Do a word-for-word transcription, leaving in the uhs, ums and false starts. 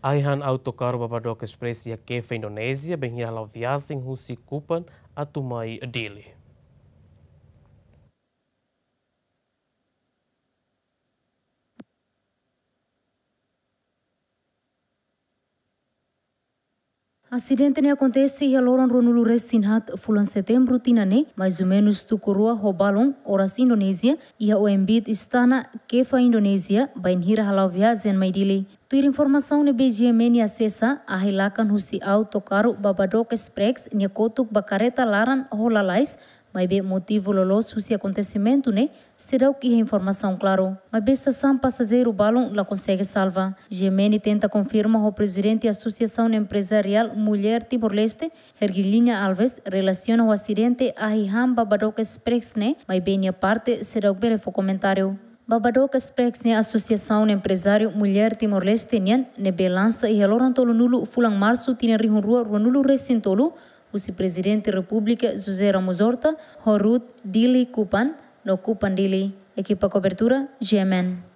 Ai-han autokarru Babadook Express iha Kefa, Indonézia, bainhira hala'o viajen husi Kupang atu mai Dili. Asidente ne'e akontese iha loron ruanulu-resin-haat fulan Setembru tinan ne'e, mais ou menus tuku rua ho balun, oras Indonézia, iha oin-bit Istana, Kefa, Indonézia, bainhira hala'o viajen mai Dili. Tuir informasaun ne'ebé GMN asesa, ahi-lakan husi autokarru Babadook Express nia kotuk ba karreta laran ho lalais, maibé motivu loloos husi akontesimentu ne'e seidauk iha informasaun klaru. Maibé sasán pasajeiru balun la konsege salva. GMN tenta konfirma ho prezidente Asosiasaun Emprezariál Mulher Timor-Leste, Hergilinha Alves, relasiona ho asidente ahi-han Babadook Express ne'e, maibé nia parte seidauk bele fó komentáriu. Babadook Express ne'e Asosiasaun Emprezáriu Mulher Timor-Leste nian, ne'ebé lansa iha loron tolunulu fulan Marsu tinan rihun rua ruanulu-resin-tolu, husi Prezidente Repúblika José Ramos Horta, ho rute Dili Kupang, no Kupang Dili. Ekipa kobertura, GMN.